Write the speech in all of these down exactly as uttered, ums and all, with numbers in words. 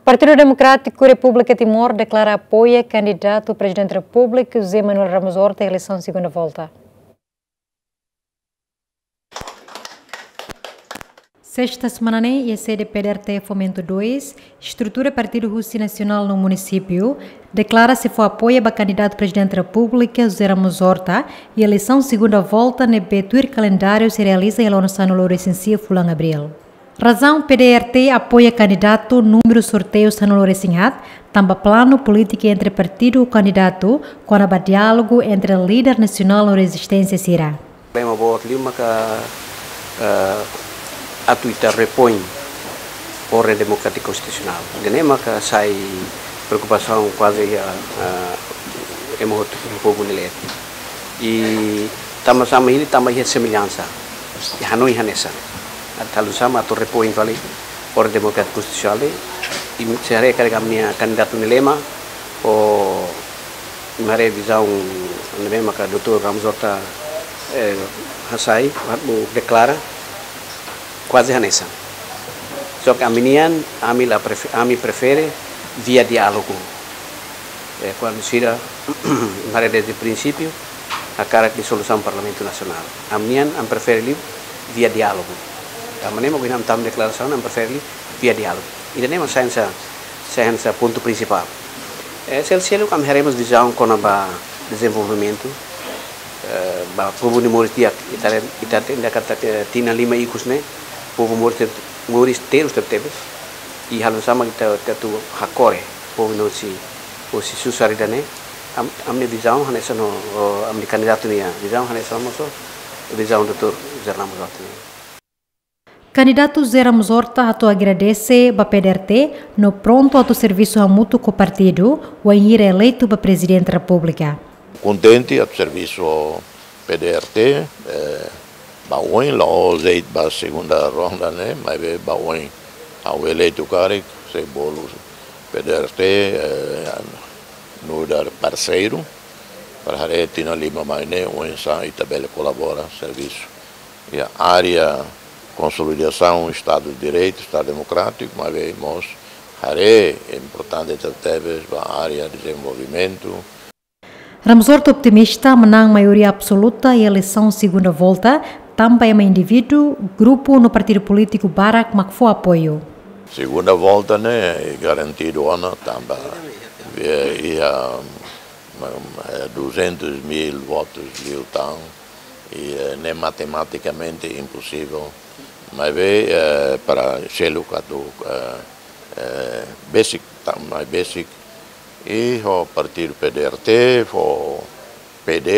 Partidu Demokrátiku Repúblika Timor deklara apoia kandidatu Prezidente Repúblika José Manuel Ramos Horta iha eleisaun segunda volta. Sesta semana ne'e, iha sede P D R T Fomento dois, estrutura partidu husi nasionál no munisípiu, deklara sei fó apoia ba kandidatu Prezidente Repúblika José Ramos Horta iha eleisaun segunda volta ne'ebé tuir kalendáriu sei realiza iha loron sanulu-resin-sia fulan Abríl. Razaun P D R T apoia kandidatu númeru sorteiu sanulu-resin-haat, tanba planu polítika entre partidu ho kandidatu, kona-ba diálogu entre líder nasionál no rezisténsia sira. Problema boot liu maka, eh, atu ita repoin orden demokrátiku konstitusionál. Ida-ne'e maka sai preokupasaun kuaze iha, eh, ema hotu, povu nia leet. I tanba sá mak hili, tanba iha semellansa, iha hanoin hanesan. Atu halo sá mak atu repoin fali orden demokrátiku konstitusionál, i se haree karik ami-nia kandidatu nia lema, ho imi haree vizaun ne'ebé maka doutór Ramos Horta, eh, hasai, atu deklara, kuaze hanesan. Só ke ami-nian, ami la prefe-, ami prefere via diálogu. Eh, kuandu sira, imi haree dezde prinsípiu, hakarak iha solusaun Parlamentu Nasionál. Ami-nian, ami prefere liu via diálogu. Tanba ne'e mak ohin ami tama deklarasaun, ami prefere liu via diálogu. Ida-ne'e mak sai hanesan, sai hanesan pontu prinsipál. Eh, sel-, seluk ami haree mós vizaun kona-ba dezenvolvimentu, eh, ba povu nia moris di'ak, ita, ita hatene katak tinan lima ikus ne'e, povu moris te-, moris terus tebetebes, i halo sá mak ita, ita atu hakore povu ne'e husi, husi susar ida-ne'e, am-, ami-nia vizaun hanesan ho, ho ami-nia kandidatu nia vizaun hanesan mós ho vizaun doutór José Ramos Horta nian. Kandidatu José Ramos Horta hato'o agradese ba P D R T no prontu atu servisu hamutuk ho partidu, wainhira eleitu ba Prezidente Repúblika. Kontente atu servisu ho P D R T, eh, ba oin, la'ós de'it ba segunda ronda ne'e, maibé ba oin ha'u eleitu karik, sei bolu P D R T, eh, nu'udar parseiru, para haree tinan lima mai ne'e, oinsá ita bele kolabora servisu iha área konsolidasaun Estadu de Direitu, Estadu Demokrátiku, maibé mós haree importante tebetebes ba área dezenvolvimentu. Ramos Horta optimista manán maioria absoluta iha eleisaun segunda volta, tanba ema indivíduu, grupu no partidu polítiku barak mak fó apoiu. Segunda volta ne'e garantidu ona tanba, eh, iha, mm, eh, duzentos mil votus liután, i, eh, ne'e matematikamente imposivel. Maibé, eh, para seluk atu, eh, eh, besik, ta-, mai besik, i ho partidu P D R T, ho P D,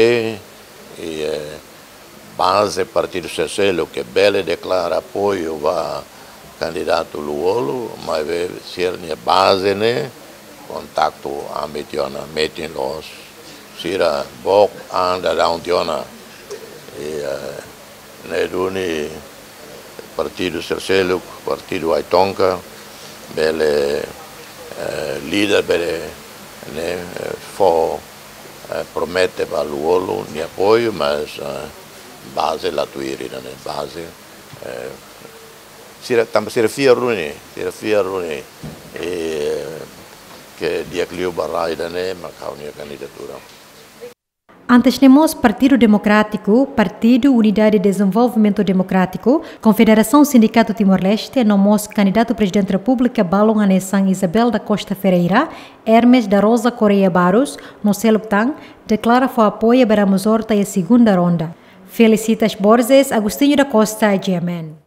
i, eh, baze partidu sira seluk ke bele deklara apoiu ba kandidatu Lú-Olo, maibé sira-nia baze ne'e kontaktu ami tiha ona, metin loos, sira book an daudaun tiha ona. I, eh, ne'e duni partidu sira seluk, partidu ai-tonka, bele, eh, líder bele, ne'e, eh, fó, eh, promete ba Lú-Olo nia apoiu, mas, eh, baze la tuir ida-ne'e, baze, eh, sira, tanba sira fiar duni, sira fiar duni, eh, ke di'ak liu ba rai ida-ne'e, mak ha'u-nia kandidatura. Antes ne'e mós Partidu Demokrátiku, Partidu Unidade Dezenvolvimentu Demokrátiku, Konfederasaun Sindikatu Timor-Leste, no mós kandidatu Prezidente Repúblika balun hanesan Isabel da Costa Ferreira, Hermes da Rosa Correia Barros, no seluk tan, deklara fó apoiu ba Ramos Horta iha segunda ronda. Felicitas Borges, Agostinho da Costa, G M N.